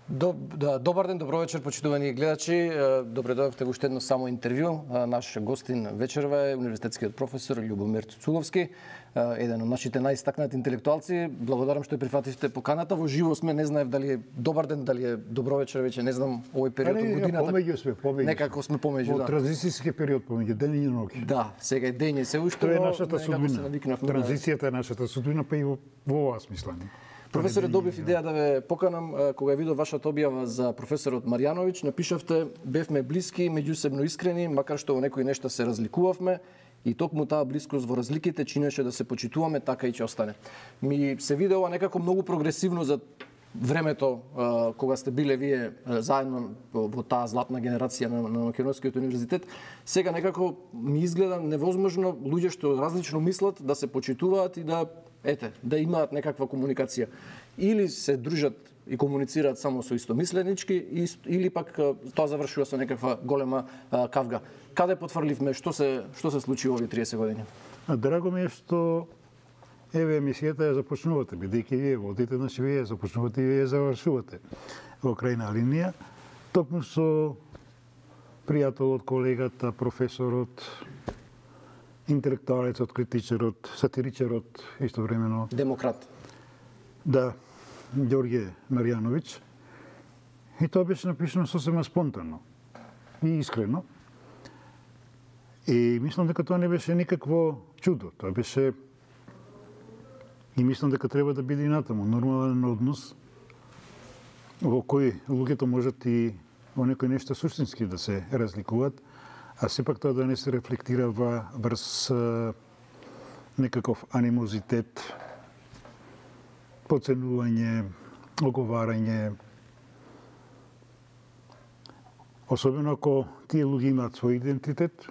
Добар ден, добро вечер, почитувани гледачи. Добре дојдовте во уште едно само интервју. Наш гостин вечерва е универзитетскиот професор Љубомир Цуцуловски, еден од нашите најистакнати интелектуалци. Благодарам што ја прифативте поканата. Во живо сме, не знаев дали е добар ден, дали е добро вечер, веќе не знам овој период од годината. Помеѓу Некако сме помеѓу, да. Во транзицијски период помеѓу ден и ноќ. Да, сега е дење се уште, тоа е нашата судбина. Транзицијата е нашата судбина, па и во ова смислење. Професоре, добив идеја да ве поканам, кога ја видов вашата објава за професорот Марјановиќ, напишавте: бевме блиски, меѓусебно искрени, макар што во некои нешта се разликувавме, и токму таа блискост во разликите чинеше да се почитуваме, така и ќе остане. Ми се виде ова некако многу прогресивно за времето кога сте биле вие заедно во таа златна генерација на Македонскиот универзитет. Сега некако ми изгледа невозможно луѓе што различно мислат да се почитуваат и да имаат некаква комуникација. Или се дружат и комуницираат само со истомисленички, или пак тоа завршува со некаква голема кавга. Каде потврливме, што се случи овие 30 години? Драго ми е што еве емисијата ја започнувате, бидејќи вие водите, значи вие ја започнувате и вие ја завршувате во крајна линија, токму со пријателот, колегата, професорот, интелектуалецот, критичарот, сатиричарот, истовремено демократ. Да, Ѓорѓе Марјановиќ. И тоа беше напишано сосема спонтано и искрено. И мислам дека тоа не беше никакво чудо. Тоа беше, и мислам дека треба да биде и натаму нормален однос во кој луѓето можат и во некои нешта суштински да се разликуваат, а сепак тоа да не се рефлектира врз некаков анимозитет, поценување, оговарање. Особено ако тие луѓе имаат свој идентитет,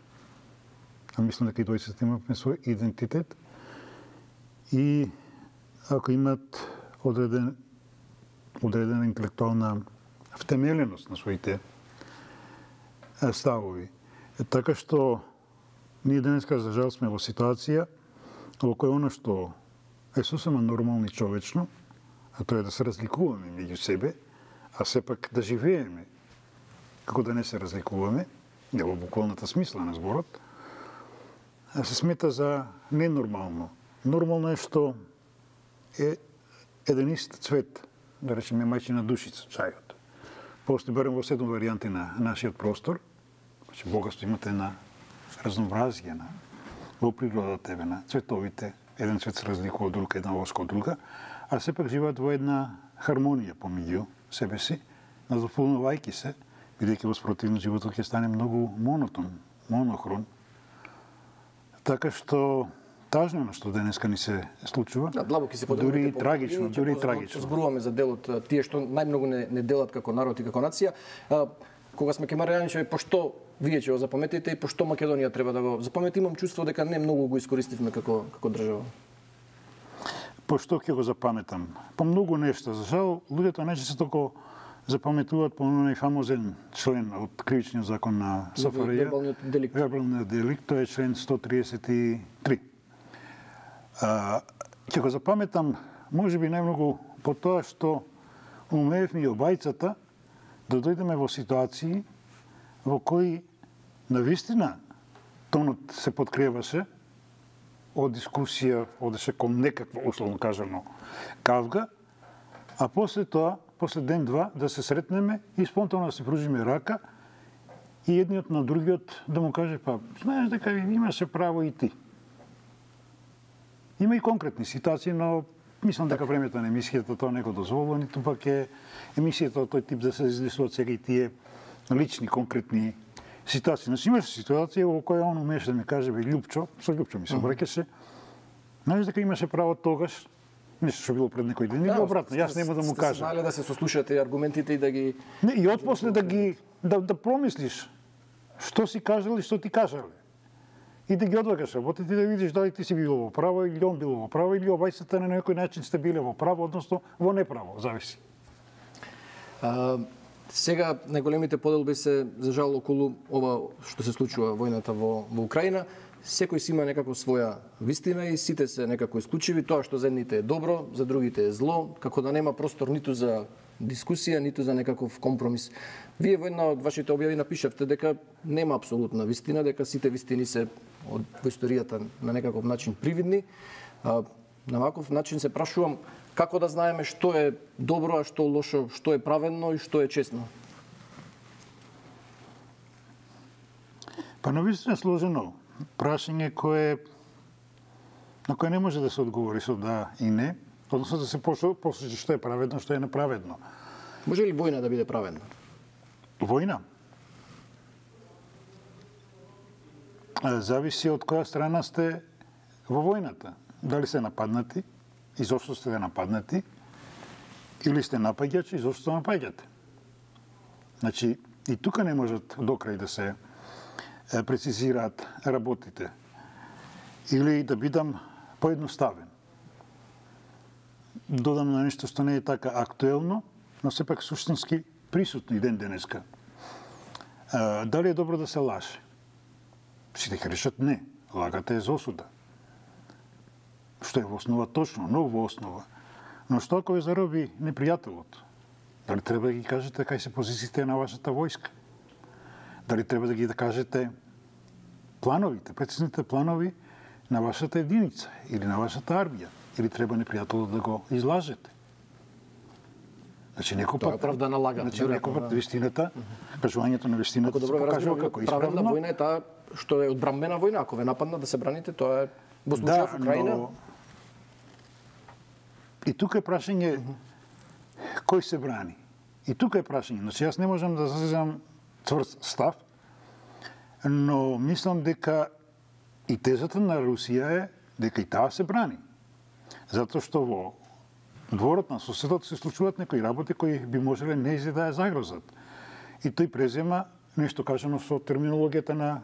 а мислам дека и двојцата имаме свој идентитет, и ако имаат одредена интелектуална втемеленост на своите ставови. Така што ние денеска за жал сме во ситуација во која оно што е сосема нормално и човечно, а тоа е да се разликуваме меѓу себе, а сепак да живееме како да не се разликуваме, во буквалната смисла на зборот, се смета за ненормално. Нормално е што е еден ист цвет, да речеме мајчина душица, чајот. Постои барем во 7 варијанти на нашиот простор, значи богатство имате на разнообразие во природата, на цветовите, еден цвет се разликува од друг, една воска од друга, а сепак живеат во една хармонија помеѓу себе си, надополнувајќи се, бидејќи во спротивно животот ќе стане многу монотон, монохрон. Така што тажно што денеска ни се случува, дури и трагично, Зборуваме за делот тие што најмногу не делат како народ и како нација. Кога сме ке Марјановиќ, пошто вие ќе го запаметите и пошто Македонија треба да го запамети, имам чувство дека не многу го искористивме како држава. Пошто ќе го запаметам? По многу нешта. За жал, луѓето најчесто толку запаметуваат по оној фамозен член од кривичниот закон на СФРЈ, вербалниот деликт, тоа е член 133. Ќе го запаметам можеби најмногу по тоа што умеевме и обајцата да дојдеме во ситуации во кои навистина тонот се подкреваше од дискусија, одеше кон некаква, условно кажано, кавга, а после тоа, после ден-два, да се сретнеме и спонтано да се пружиме рака и едниот на другиот да му каже: па, знаеш дека имаше право и ти. Има и конкретни ситуации, но мислам дека времето на емисијата тоа не го дозволува, ниту пак е емисијата од тој тип да се излисуваат сега и тие лични, конкретни ситуации. Значи имаше ситуација во која он умеше да ми каже: бе, Љупчо, со Љупчо ми се обраќаше, знаеш дека имаше право тогаш, нешто што било пред некој ден, или обратно, јас нема да му кажам. Сте знали да се сослушате аргументите и да ги... Не, и отпосле да промислиш што си кажал и што ти кажале. И да ги одлагаш работите и да видиш дали ти си бил во право или он бил во право, или обајцата на некој начин сте биле во право, односно во неправо, зависи. Сега најголемите поделби се за жал околу ова што се случува војната во Украина. секој си има некако своја вистина и сите се некако исклучиви. Тоа што за едните е добро, за другите е зло, како да нема простор ниту за дискусија, ниту за некаков компромис. Вие во една од вашите објави напишавте дека нема апсолутна вистина, дека сите вистини се во историјата на некаков начин привидни. На ваков начин се прашувам како да знаеме што е добро, а што лошо, што е праведно и што е честно. Па навистина сложено прашање на кое не може да се одговори со да и не, односно да се посочи што е праведно, што е неправедно. Може ли војна да биде праведна? Војна? Зависи од која страна сте во војната. Дали сте нападнати, и зошто сте нападнати, или сте напаѓачи, и зошто напаѓате. Значи, и тука не можат до крај да се прецизираат работите. Или да бидам поедноставен. Додам на нешто што не е така актуелно, но сепак суштински присутно и ден денеска. Дали е добро да се лаже? Сите ќе решат не. Лагата е за осуда. Што е во основа точно, но во основа. Но што ако ве зароби непријателот? Дали треба да ги кажете кај се позициите на вашата војска? Дали треба да ги кажете плановите, прецизните планови на вашата единица или на вашата армија? Или треба непријателот да го излажете? Значи, некој пат... Тоа е да лага. Значи, некој пат вистината, кажувањето на вистината се покажува како исправно. Праведна војна е таа што е одбранбена војна. Ако ве нападнат да се браните, тоа е во случајот Украина. Но... И тука е прашање кој се брани. И тука е прашање. Значи, јас не можам да заземам цврст став, но мислам дека и тезата на Русија е дека и таа се брани. Затоа што во дворот на соседот се случуваат некои работи кои би можеле нејзе да ја загрозат. И тој презема нешто кажано со терминологијата на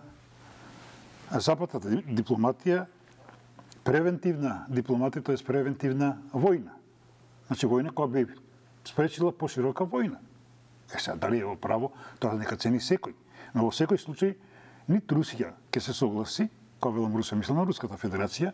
западната дипломатија, превентивна дипломатија, тоа е превентивна војна. Значи војна која би спречила поширока војна. Сега, дали е во право, тоа нека цени секој. Но во секој случај, нит Русија ќе се согласи, кога велам Русија, мислам на Руската Федерација,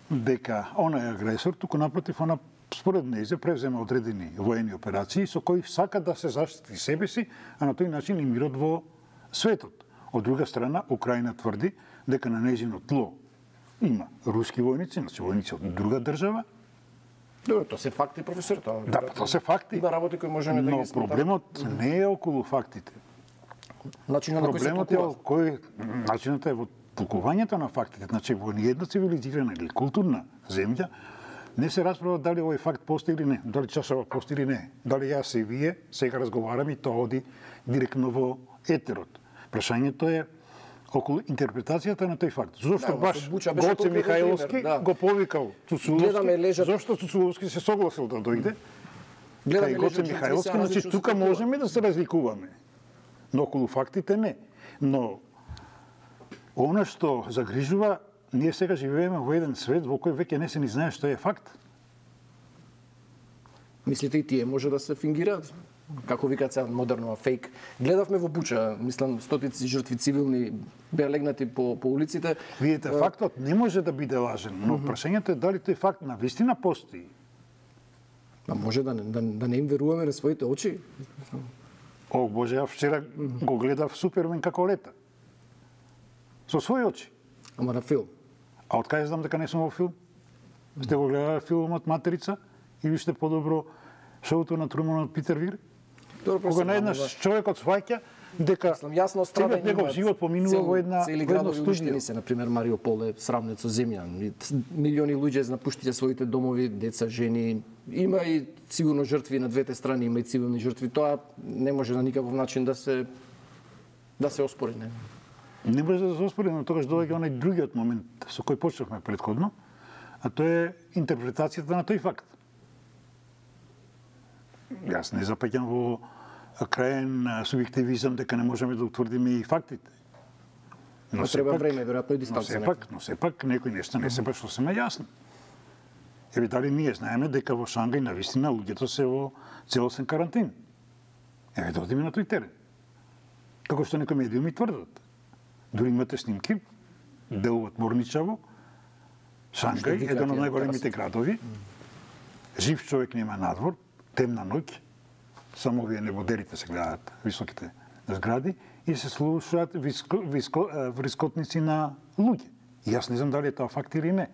дека она е агресор, туку напротив, она според нејзе превзема одредени воени операции со кои сака да се заштити себе си, а на тој начин и мирот во светот. Од друга страна, Украина тврди дека на нејзино тло има руски војници, значи војници од друга држава. Добро, тоа се факти, професор, тоа. Да, тоа се факти. Има работи кои можеме да ги сметаме. Но проблемот не е околу фактите. Начинот на кој се толкува. Начинот е во толкувањето на фактите. Значи, во ниједна цивилизирана или културна земја не се расправа дали овој факт постои или не, дали чашава постои или не, дали јас и вие сега разговараме и тоа оди директно во етерот. Прашањето е околу интерпретацијата на тој факт. Зошто баш Гоце Михајловски го повикал Цуцуловски? Зошто Цуцуловски се согласил да дојде? Кај Гоце Михајловски, значи тука можеме да се разликуваме. Но околу фактите не. Но она што загрижува, ние сега живееме во еден свет во кој веќе не се ни знае што е факт. Мислите и тие може да се фингираат? Како викаат сега модерно, фейк. Гледавме во Буча, мислам, стотици жртви цивилни беа легнати по улиците. Видите, фактот не може да биде лажен, но прашањето е дали тој факт на вистина постои. А може да не им веруваме на своите очи? О, Боже, ја вчера го гледав Супермен како лета. Со своји очи. Ама на филм. А од кај знам дека не сум во филм? Сте го гледали филмот Материца или сте подобро шоуто на Труман од Питер Вир? Кога наеднаш човекот сваќа дека јасно целиот негов живот поминува во една студија. Се, например, Мариупол е сравнет со земја. Милиони луѓе напуштија своите домови, деца, жени. Има и сигурно жртви на двете страни, има и цивилни жртви. Тоа не може на никаков начин да се оспори, не. Не може да се оспори, но тогаш доаѓа онај другиот момент со кој почнавме претходно, а тоа е интерпретацијата на тој факт. Јас не запаѓам во краен субјективизам дека не можеме да утврдиме и фактите. Но треба време, веројатно и дистанца. Но сепак некои нешта не се баш сосема јасни. Еве дали ние знаеме дека во Шангај навистина луѓето се во целосен карантин. Еве да одиме на тој терен. Како што некои медиуми тврдат. Дури имате снимки делуваат морничаво. Шангај, еден од најголемите градови. Жив човек нема надвор, темна ноќ, само овие небодерите се гледаат, високите згради, и се слушаат врискотници на луѓе. И јас не знам дали е тоа факт или не.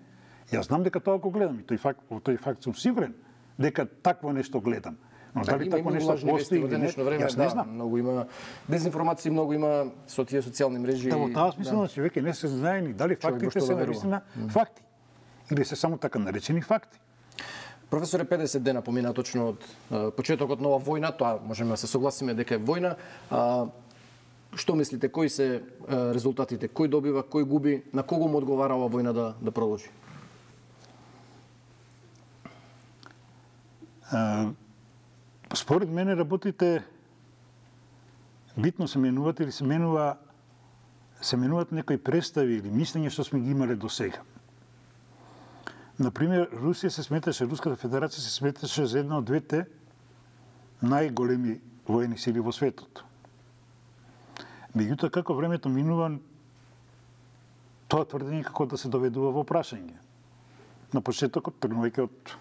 Јас знам дека тоа го гледам и тој факт сум сигурен дека такво нешто гледам. Но дали такво нешто постои или не, јас не знам. Многу има дезинформации, многу има со тие социјални мрежи. Да, во таа смисла, човек не се знае ни дали фактите се навистина факти или се само така наречени факти. Професоре, 50 дена помина точно од почетокот на оваа војна, тоа можеме да се согласиме дека е војна. Што мислите, кои се резултатите? Кој добива, кој губи, на кого му одговара оваа војна да продолжи? Според мене работите битно се менуваат или се менуваат некои представи или мислења што сме ги имале до сега. Например, Руската Федерација се сметаше за една од двете најголеми воени сили во светот. Меѓутоа, како времето минува, тоа тврдење како да се доведува во прашање. На почетокот, тргнувајќи од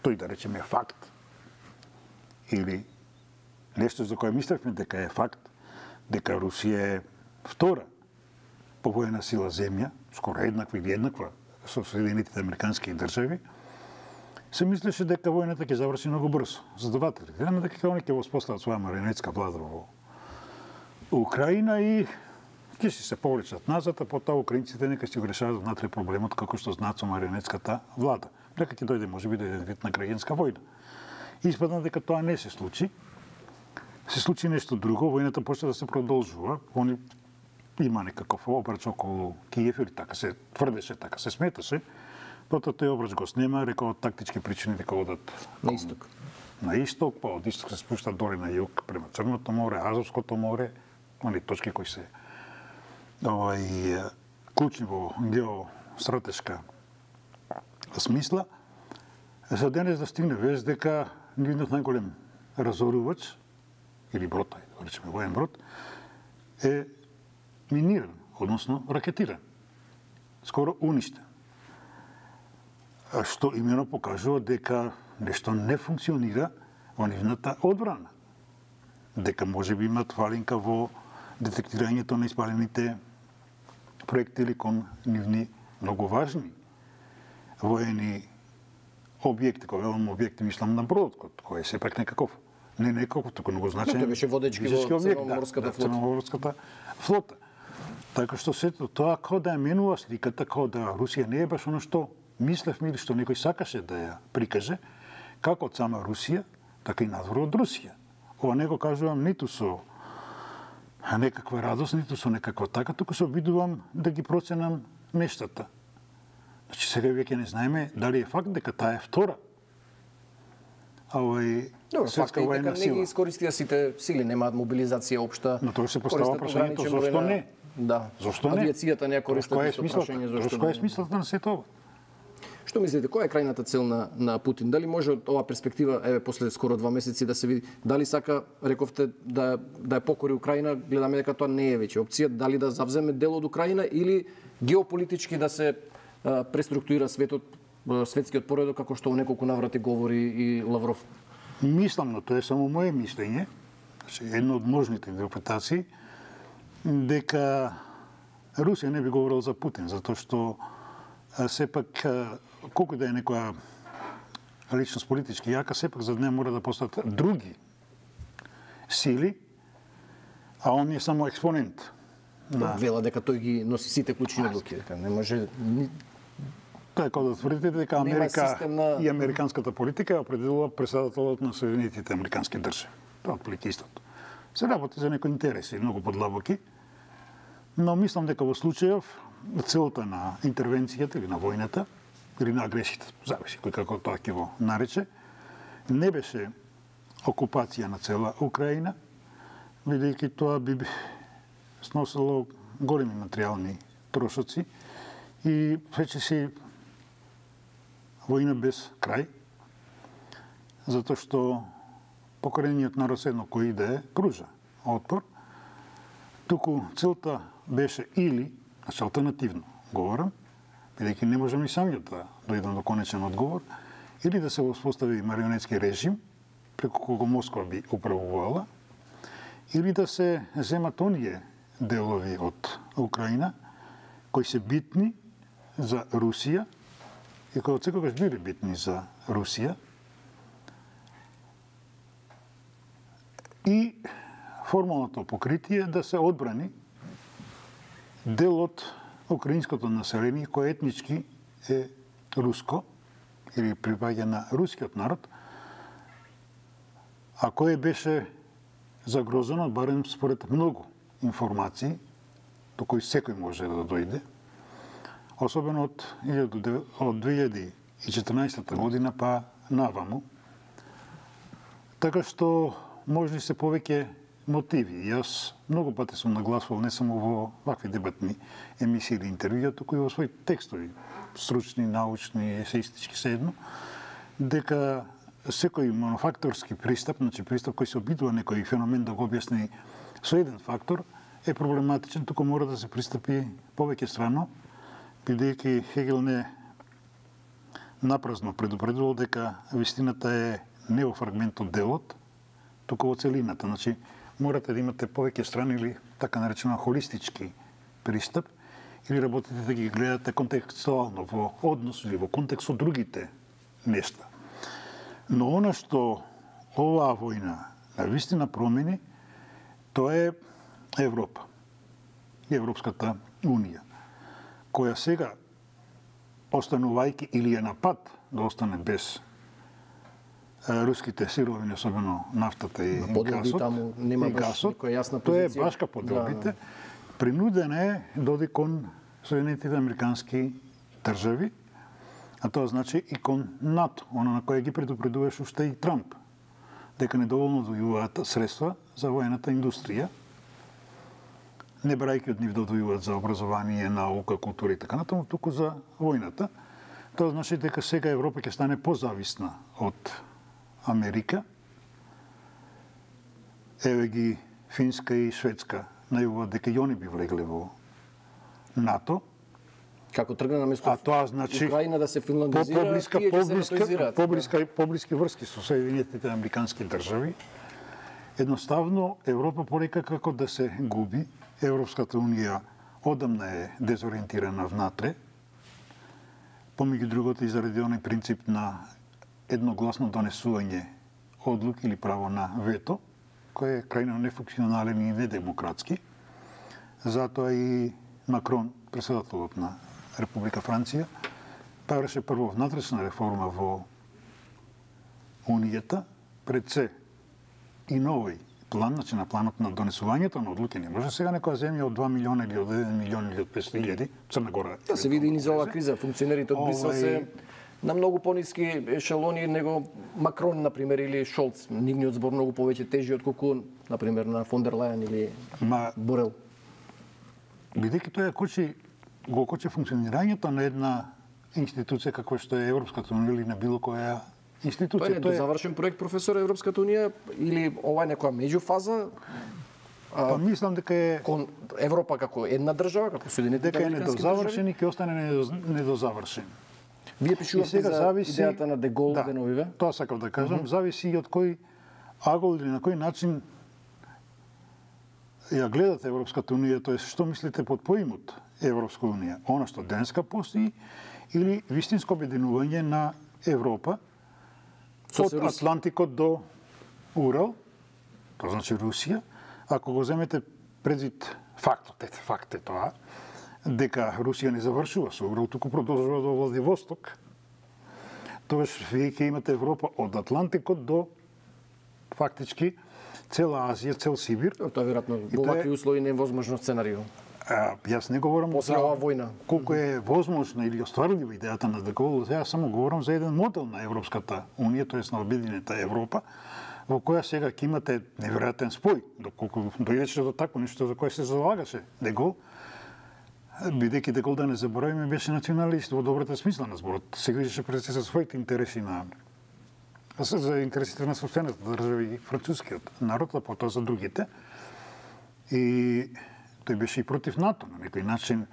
тој, да речеме, факт, или нешто за кое мислевме дека е факт, дека Русија е втора по воена сила земја, скоро еднаква или еднаква со Соединетите американски држави, се мислеше дека војната ќе заврши многу брзо. Задавателите, дека они ќе воспостават своја марионетска влада во Украина и ќе си се повлечат назад, а потоа украинците нека си го решават внатре проблемот како што знаат со марионетската влада. Дека ќе дојде можеби до еден вид на граѓанска војна. Испадна дека тоа не се случи. Се случи нешто друго, војната почна да се продолжува. Они има некаков обрач околу Киев, или така се тврдеше, така се сметаше. Потоа тој обрач го снема, рекол од тактички причини дека одат на исток. На исток, па од исток се спуштат доле на југ, према Црното море, Азовското море, они точки кои се клучни во геостратешка смисла. За денес да стигне вест дека нивниот најголем разорувач, или брод, да речеме воен брод, е миниран, односно ракетиран. Скоро уништен. Што имено покажува дека нешто не функционира во нивната одбрана. Дека може би имат фалинка во детектирањето на испалените проектили кон нивни многу важни воени објекти, кога велам објекти, мислам на бродот, кој е сепак некаков, не некаков, туку многу значаен. Тој беше водечки во Црноморската флота. Така што сето тоа како да ја менува сликата, како да Русија не е баш оно што мислевме или што некој сакаше да ја прикаже, како од сама Русија, така и надвор од Русија. Ова не го кажувам ниту со некаква радост, ниту со некаква така, туку се обидувам да ги проценам нештата. Значи сега веќе не знаеме дали е факт дека таа е втора. Светска воена сила. Не ги искористија сите сили, немаат мобилизација општа. Но тоа се постава прашањето зошто не? Да. Зошто не? Авиацијата не ја користат со прашање зошто не. Која е смислата на сето ова? Што мислите, која е крајната цел на Путин? Дали може од оваа перспектива, после скоро 2 месеци да се види, дали сака, рековте, да ја покори Украина, гледаме дека тоа не е веќе опција, дали да завземе дел од Украина или геополитички да се преструктурира светскиот поредок, како што во неколку наврати говори и Лавров? Мислам, но тоа е само моje мислење, едно од можните интерпретации, дека Русија не би говорила за Путин, затоа што сепак, колку да е некоја личност политички јака, сепак за неја мора да постојат други сили, а он е само експонент. Вела дека тој ги носи сите клучни одлуки, дека не може. Така да тврдите дека Америка и американската политика ја определува председателот на Соединетите американски држави. Тоа отприлike истото. Се работи за некои интереси, многу подлабоки, но мислам дека во случајов целта на интервенцијата или на војната или на агресијата, зависи кој како тоа ќе го нарече, не беше окупација на цела Украина, бидејќи тоа би сносило големи материјални трошоци и речиси војна без крај, затоа што покорениот народ едно кој иде пружа отпор, туку целта беше или, значи алтернативно, говорам, бидејќи не можам и самиот да дојдам до конечен одговор, или да се успостави марионетски режим, преку кого Москва би управувала, или да се земат оние делови од Украина, кои се битни за Русија, и кои отсекогаш били битни за Русија, и формалното покритие да се одбрани дел од украинското население кој етнички е руско или припаѓа на рускиот народ, а кое беше загрозено, барем според многу информации, до кои секој може да дојде, особено од 2014 година па наваму. Така што можни се повеќе мотиви. Јас многу пати сум нагласувал не само во вакви дебатни емисии или интервјуа, туку и во своји текстови, стручни, научни, есеистички седно, дека секој монофакторски пристап, значи пристап кој се обидува некој феномен да го објасни со еден фактор, е проблематичен, туку мора да се пристапи повеќе страно, бидејќи Хегел не напразно предупредувал дека вистината е не во фрагментот делот, туку во целината. Значи, морате да имате повеќе страни или така наречено холистички пристап, или работите да ги гледате контекстуално во однос или во контекст со другите нешта. Но она што оваа војна на вистина промени, тоа е Европа и Европската Унија, која сега, останувајќи или е на пат да остане без руските сировини, особено нафтата и гасот, таму нема баш некоја јасна тоа е позиција. башка подробите, принуден е да оди кон Соединетите американски држави, а тоа значи и кон НАТО, она на која ги предупредуваше уште и Трамп, дека недоволно одвојуваат средства за воената индустрија, не брајќи од нив да одвојуваат за образование, наука, култура и така натаму, туку за војната. Тоа значи дека сега Европа ќе стане позависна од Америка. Еве ги Финска и Шведска најавуваат дека и они би влегле во НАТО. Како тргна на место А тоа значи Украина да се финландизира, тие ќе се натоизираат. Поблиски врски со Соединетите американски држави. Едноставно Европа порека како да се губи. Европската унија одамна е дезориентирана внатре. Помеѓу другото и заради оној принцип на едногласно донесување одлуки или право на вето, кој е крајно нефункционален и недемократски. Затоа и Макрон, председателот на Република Франција, правеше прво внатрешна реформа во Унијата, пред се и новој план, значи на планот на донесувањето на одлуки. Не може сега некоја земја од 2 милиона или од 1 милион или од 500.000, Црна Гора. Да се види и низ оваа криза, функционерите од Брисел се на многу пониски ешелони него Макрон, например, или Шолц. Нивниот збор многу повеќе тежи отколку, например, на фон дер Лајен или Борел. Бидејќи тоа го кочи функционирањето на една институција каква што е Европската унија или на било која институција. Тоа е завршен проект, професор, Европската унија, или ова е некоја меѓуфаза? Па мислам дека е кон Европа како една држава, како Соединетите дека е американски недозавршен држави? и ќе остане недозавршен. Вие пишувате за идејата на Дегол деновиве? Тоа сакав да кажам, зависи и од кој агол или на кој начин ја гледате Европската унија, тоа е што мислите под поимот Европска унија, она што денеска постои или вистинско обединување на Европа од Атлантикот до Урал, тоа значи Русија. Ако го земете предвид факт е тоа, дека Русија не завршува со Урал, туку продолжува до Владивосток, тогаш вие ќе имате Европа од Атлантикот до фактички цела Азија, цел Сибир. Тоа веројатно во вакви услови не е возможно сценарио. Јас не говорам после оваа војна. Колку е возможна или остварлива идејата на Дегол, јас само говорам за еден модел на Европската унија, тоест на обединета Европа, во која сега ќе имате неверојатен спој, доколку дојдеше до такво нешто за кое се залагаше Дегол, бидејќи Дегол, да не заборавиме, беше националист во добрата смисла на зборот. Се грижеше пред се за своите интереси за интересите на собствената држава и францускиот народ, а потоа за другите. И тој беше и против НАТО на некој начин.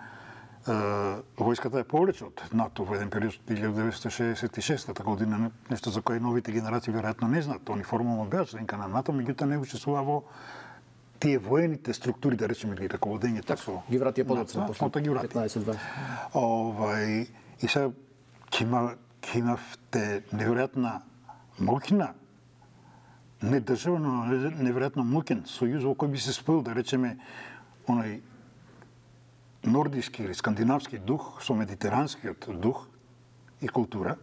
војската е повлече од НАТО во еден период 1966 година, нешто за кое новите генерации веројатно не знаат. Они формално беа членка на НАТО, меѓутоа не учествува во тие воените структури, да речеме, или раководењето со ги врати подоцна после 15-20. И сега ќе имавте неверојатна моќна не држава, но неверојатно моќен сојуз во кој би се споил, да речеме, оној нордиски или скандинавски дух со медитеранскиот дух и култура,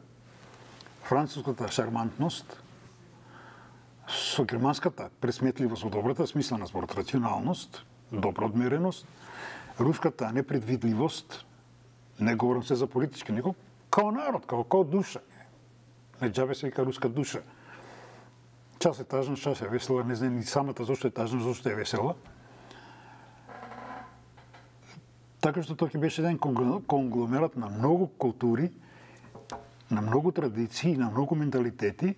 француската шармантност со германската пресметливост во добрата смисла на зборот, рационалност, добра одмереност, руската непредвидливост, не говорам се за политички, него као народ, као душа. Не џабе се вика руска душа. Час е тажна, час е весела, не знам ни самата зошто е тажна, зошто е весела. Така што тоа ќе беше еден конгломерат на многу култури, на многу традиции, на многу менталитети,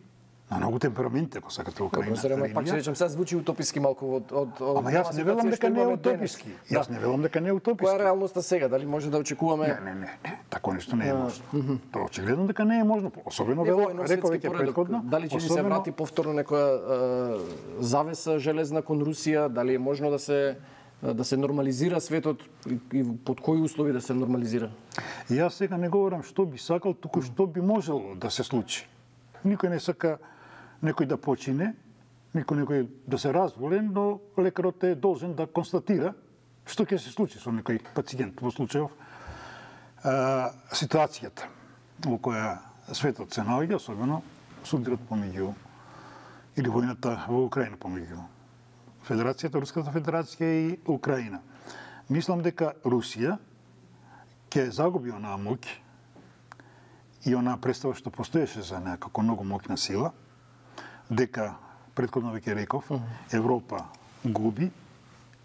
на многу темпераменти, ако сакате, Украина. Пак ќе речем, сега звучи утописки малку од Ама јас не велам дека не е утописки. Јас не велам дека не е утописки. Која е реалноста сега? Дали може да очекуваме? Не. Тако нешто не е можно. Тоа очигледно дека не е можно, особено реков веќе претходно. Дали ќе ни се врати повторно некоја завеса железна кон Русија? Дали е можно да се нормализира светот и под кои услови да се нормализира? Јас сега не говорам што би сакал, туку што би можело да се случи. Никој не сака некој да почине, некој да се разволен, но лекарот е должен да констатира што ќе се случи со некој пациент во случајов ситуацијата во која светот се наоѓа, особено судрот помеѓу или војната во Украина помеѓу Федерацијата, Руската Федерација и Украина. Мислам дека Русија ќе загуби онаа моќ и онаа представа што постоеше за неа како многу моќна сила, дека, претходно веќе реков, Европа губи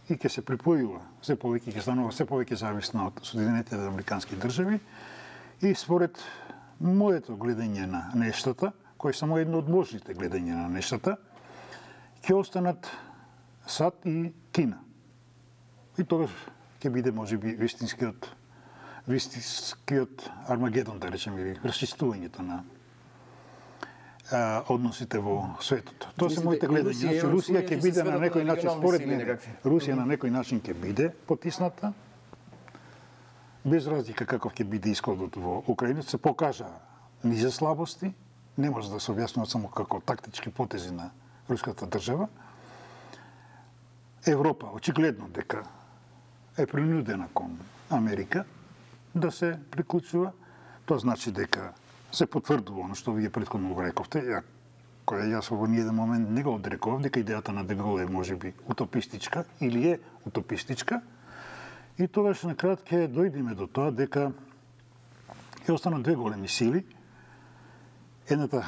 и ќе се припојува се повеќе, ќе станува се повеќе зависна од Соединетите Американски држави и според моето гледање на нештата, кој е само едно од можните гледања на нештата, ќе останат САД и Кина. И тогаш ќе биде можеби вистинскиот Армагедон, да речеме, или расчистувањето на односите во светот. Тоа се моите гледања. Русија ќе биде на некој начин, според мене, Русија на некој начин ќе биде потисната, без разлика каков ќе биде исходот во Украина, се покажа низе слабости, не може да се објаснува само како тактички потези на руската држава. Европа очигледно дека е принудена кон Америка да се приклучува. Тоа значи дека се потврдува оно што вие претходно го рековте, која јас во ниеден момент не го одрекував, дека идејата на Дегол е можеби утопистичка или е утопистичка. И тогаш на крај ќе дојдеме до тоа дека ќе останат две големи сили. Едната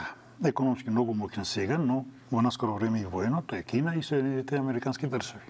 економски многу моќна сега, но во наскоро време и воено, тоа е Кина и Соединетите Американски држави.